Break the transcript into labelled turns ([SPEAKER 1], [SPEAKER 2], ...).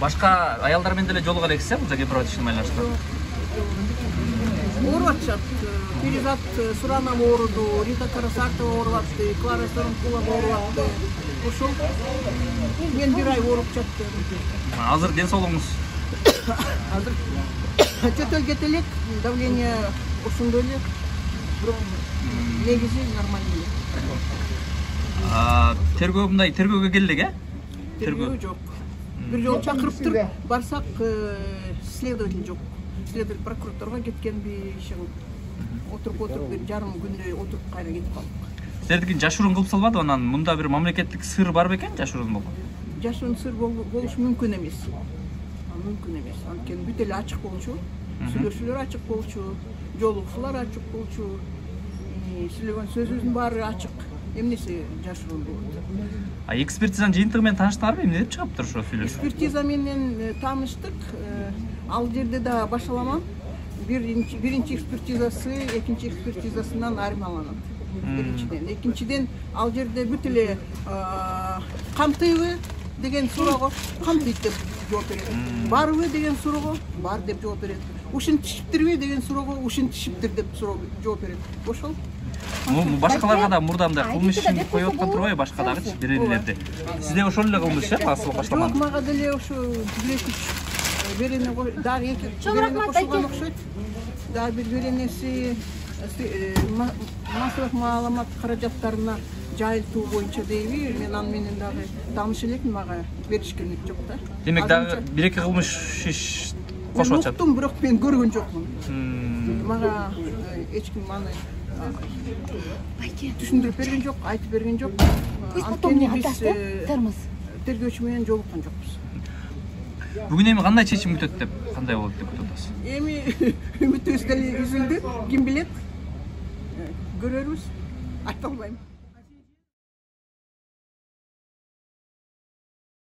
[SPEAKER 1] Башка аялдар менен деле жолугар эксиз, бул гепатитисин байланыштырып.
[SPEAKER 2] Ооруп атышат. Перизат Суранова ооруду, Рита Карасартова ооруп атты, Клара Соронкулова ооруп атты. Ошол мен бир ай ооруп жаттым.
[SPEAKER 1] Азыр ден соолугуңуз?
[SPEAKER 2] Азыр чөтөл кете элек, давление ушундай эле. Бирок негизи нормально эле.
[SPEAKER 1] Тергөө мындай тергөөгө келдик,
[SPEAKER 2] Тергөө жок. Бир жолу чакырыптыр, барсак следователь жок. Следователь прокуратурага кеткенби, отуруп бир жарым күндөй отуруп кайра кетип калдык.
[SPEAKER 1] Силердики жашыруун кылып салбады, анан мында бир мамлекеттик сыр бар бекен, жашыруун болгон?
[SPEAKER 2] Жашыруун сыр болушу мүмкүн эмес. Мүмкүн эмес. Анткени бүт эле ачык болчу. Сүйлөшүүлөр ачык болчу, жолугушуулар ачык болчу. Сүйлөгөн сөзүбүздүн баары ачык. Эмнеси жашыруун болот?
[SPEAKER 1] Экспертизанын жыйынтыгы менен тааныштыңарбы? Эмне деп чыгыптыр ошо сүйлөшүү?
[SPEAKER 2] Экспертиза менен тааныштык. Ал жерде да башаламан. Биринчи экспертизасы, экинчи экспертизасынан айырмаланат. Биринчиден. Экинчиден ал жерде бүт эле камтыйбы деген суроого камтыйт деп жооп берет. Барбы деген суроого бар деп жооп берет. Ушинтишиптирби деген суроого ушинтишиптир деп жооп берет. Ошол.
[SPEAKER 1] Башкаларга да мурда мындай кылмыш ишин коюп аткан турбайбы, башка дагычы беренелерди? Сизде ошол эле кылмыш асыл башламан?
[SPEAKER 2] Жок, мага деле ошо бир-эки берене дагы эки берене кошулган окшойт. Дагы бир беренеси массалык маалымат каражаттарына жайылтуу боюнча дейби, мен аны менен дагы тааныш элекмин, мага беришкен жок да.
[SPEAKER 1] Демек дагы бир-эки кылмыш иш кошуп атышат.
[SPEAKER 2] Уктум, бирок мен көргөн жокмун. Мага эч ким аны түшүндүрүп берген жок, айтып берген жок. Анткени биз тергөөчү менен жолуккан жокпуз.
[SPEAKER 1] Бүгүн эми кандай чечим күтөт деп, кандай болот деп күтүп атасыз?
[SPEAKER 2] Эми үмүтүбүз деле үзүлдү, ким билет? Көрөрбүз. Айта албайм.